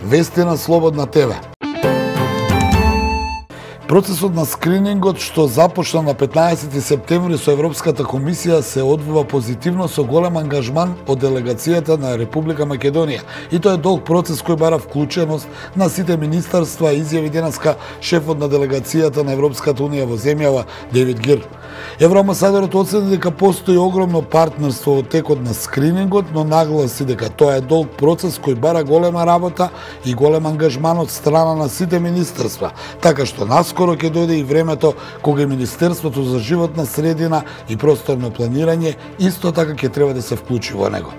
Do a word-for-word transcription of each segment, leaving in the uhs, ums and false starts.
Вести на Слободна ТВ. Процесот на скринингот што започна на петнаесети септември со Европската комисија се одвива позитивно со голем ангажман од делегацијата на Република Македонија. И тоа е долг процес кој бара вклученост на сите министерства, изјави денеска шефот на делегацијата на Европската унија во земјава Девид Гир. Евроамбасадорот оцени дека постои огромно партнерство во текот на скринингот, но нагласи дека тоа е долг процес кој бара голема работа и голем ангажман од страна на сите министерства, така што наскоро ќе дојде и времето кога Министерството за животна средина и просторно планирање исто така ќе треба да се вклучи во него.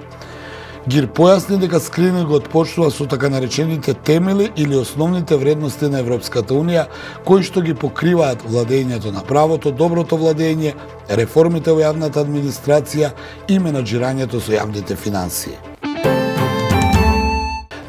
Гир појасни дека скринингот почнува со така наречените темели или основните вредности на Европската унија, кои што ги покриваат владењето на правото, доброто владење, реформите во јавната администрација и менаџирањето со јавните финансии.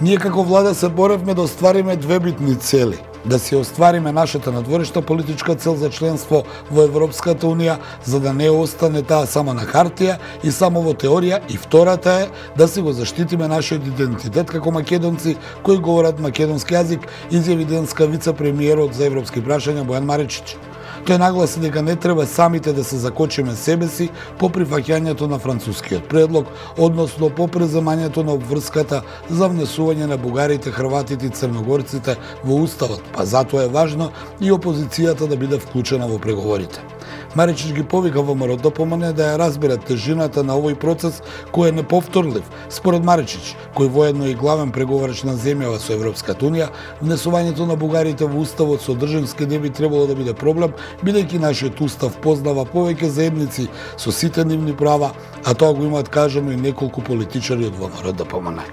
Ние како влада се боревме да оствариме две битни цели. Да си оствариме нашата надворешна политичка цел за членство во Европската унија, за да не остане таа само на хартија и само во теорија, и втората е да си го заштитиме нашиот идентитет како македонци кои говорат македонски јазик, изјави денеска вице-премиерот за европски прашања Бојан Маричич. Тој нагласи дека не треба самите да се закочиме себе си по прифаќањето на францускиот предлог, односно по преземањето на обврската за внесување на бугарите, хрватите и црногорците во уставот, па затоа е важно и опозицијата да биде вклучена во преговорите. Маричич ги повика ВМРО да помине да ја разберат тежината на овој процес кој е неповторлив. Според Маричич, кој воедно е и главен преговарач на земјава со Европската унија, внесувањето на бугарите во уставот содржински не би требало да биде проблем, бидејќи нашиот устав познава повеќе заедници со сите нивни права, а тоа го имаат кажано и неколку политичари од ВМРО да помине.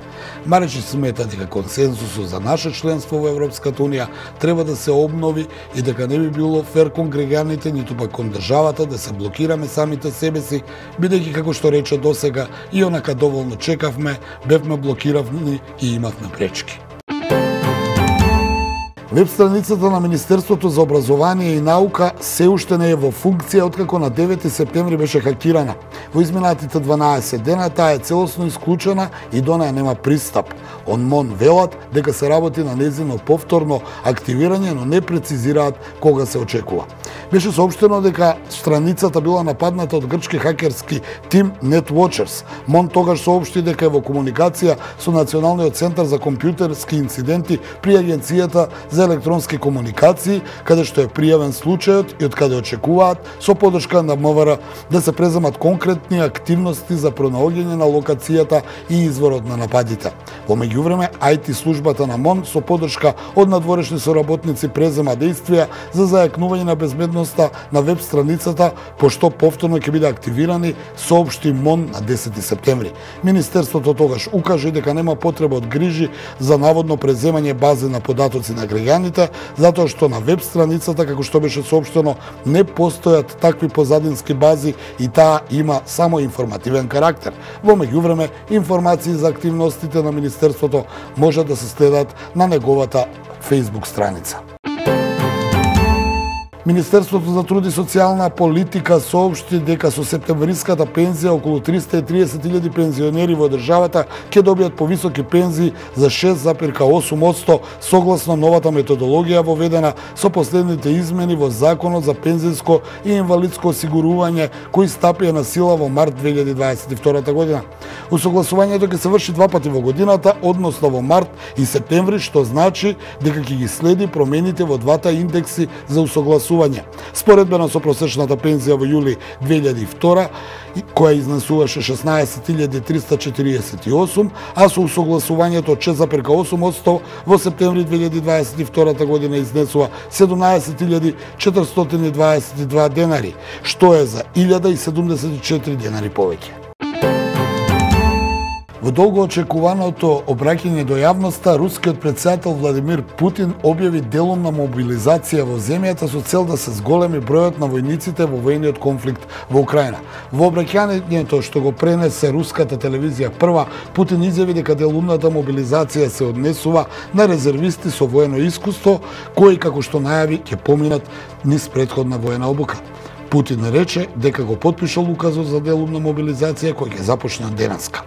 Маричич смета дека консенсусот за наше членство во Европската унија треба да се обнови и дека не би било фер кон граѓаните, ниту пак кон државата да се блокираме самите себе си, бидејќи како што рече досега и онака доволно чекавме, бевме блокиравни и имавме пречки. Веб страницата на Министерството за образование и наука се уште не е во функција откако на девети септември беше хакирана. Во изминатите дванаесет дена таа е целосно исклучена и до неа нема пристап. ОНМОН велат дека се работи на незино повторно активирање, но не прецизираат кога се очекува. Беше соопштено дека страницата била нападната од грчки хакерски тим NetWatchers. МОН тогаш соопшти дека е во комуникација со Националниот центар за компјутерски инциденти при Агенцијата за електронски комуникации, каде што е пријавен случајот и од каде очекуваат со подршка на МВР да се преземат конкретни активности за пронаоѓање на локацијата и изворот на нападите. Во меѓувреме, ај ти службата на МОН со подршка од надворешни соработници презема действија за зајакнување на безбедноста на веб страницата, пошто повторно ќе биде активирани, соопшти МОН на десети септември. Министерството тогаш укажа дека нема потреба од грижи за наводно преземање бази на податоци на граѓаните, затоа што на веб страницата, како што беше соопштено, не постојат такви позадински бази и таа има само информативен карактер. Во меѓувреме, информации за активностите на Министерството може да се следат на неговата Facebook страница. Министерството за труд и социјална политика соопшти дека со септемвриската пензија околу триста и триесет илјади пензионери во државата ќе добијат повисоки пензии за шест зарез осум одсто согласно новата методологија воведена со последните измени во Законот за пензијско и инвалидско осигурување кои стапија на сила во март две илјади дваесет и втора година. Усогласувањето ќе се врши два пати во годината, односно во март и септември, што значи дека ќе ги следи промените во двата индекси за усогласување. Споредбено со просечната пензија во јули две илјади и втора, која изнесуваше шеснаесет илјади триста четириесет и осум, а со усогласувањето од шест зарез осум одсто во септември две илјади дваесет и втора година изнесува седумнаесет илјади четиристотини дваесет и два денари, што е за илјада и седумдесет и четири денари повеќе. Во долго очекуваното обраќање до јавноста, рускиот претседател Владимир Путин објави делумна мобилизација во земјата со цел да се зголеми бројот на војниците во војниот конфликт во Украина. Во обраќањето што го пренесе руската телевизија Прва, Путин изјави дека делумната мобилизација се однесува на резервисти со воено искуство, кои, како што најави, ќе поминат низ претходна воена обука. Путин рече дека го потпишал указот за делумна мобилизација кој ќе започне од денеска.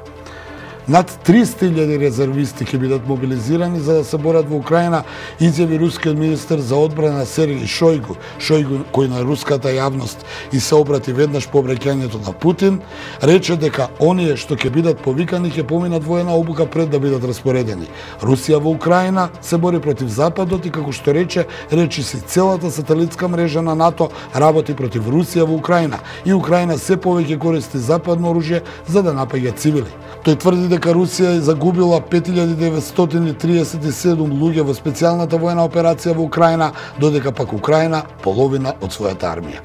Над триста илјади резервисти ќе бидат мобилизирани за да се борат во Украина, изјави рускиот министер за одбрана Сергеј Шојгу, Шојгу кој на руската јавност и се обрати веднаш по обраќањето на Путин, рече дека оние што ќе бидат повикани ќе поминат воена обука пред да бидат распоредени. Русија во Украина се бори против Западот и како што рече, речи си целата сателитска мрежа на НАТО работи против Русија во Украина и Украина се повеќе користи западно оружје за да напаѓа цивили. Тој тврди дека Русија е загубила пет илјади деветстотини триесет и седум луѓе во специјалната воена операција во Украина, додека пак Украина половина од својата армија.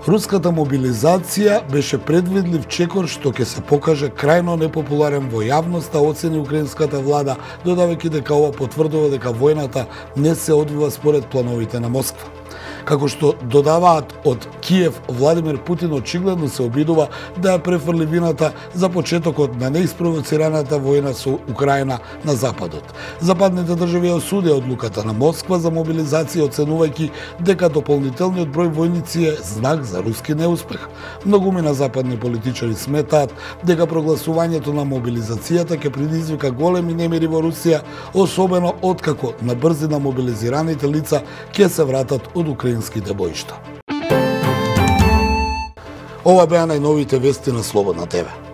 Руската мобилизација беше предвидлив чекор што ќе се покаже крајно непопуларен во јавноста, оцени украинската влада, додавајќи дека ова потврдува дека војната не се одвива според плановите на Москва. Како што додаваат од Киев, Владимир Путин очигледно се обидува да ја префрли вината за почетокот на неиспровоцираната војна со Украина на Западот. Западните држави осудија одлуката на Москва за мобилизација, оценувајќи дека дополнителниот број војници е знак за руски неуспех. Многуми на западни политичари сметаат дека прогласувањето на мобилизацијата ќе предизвика големи немири во Русија, особено откако на брзина мобилизираните лица ќе се вратат од украинските боишта. Ова беа најновите вести на Слободна ТВ.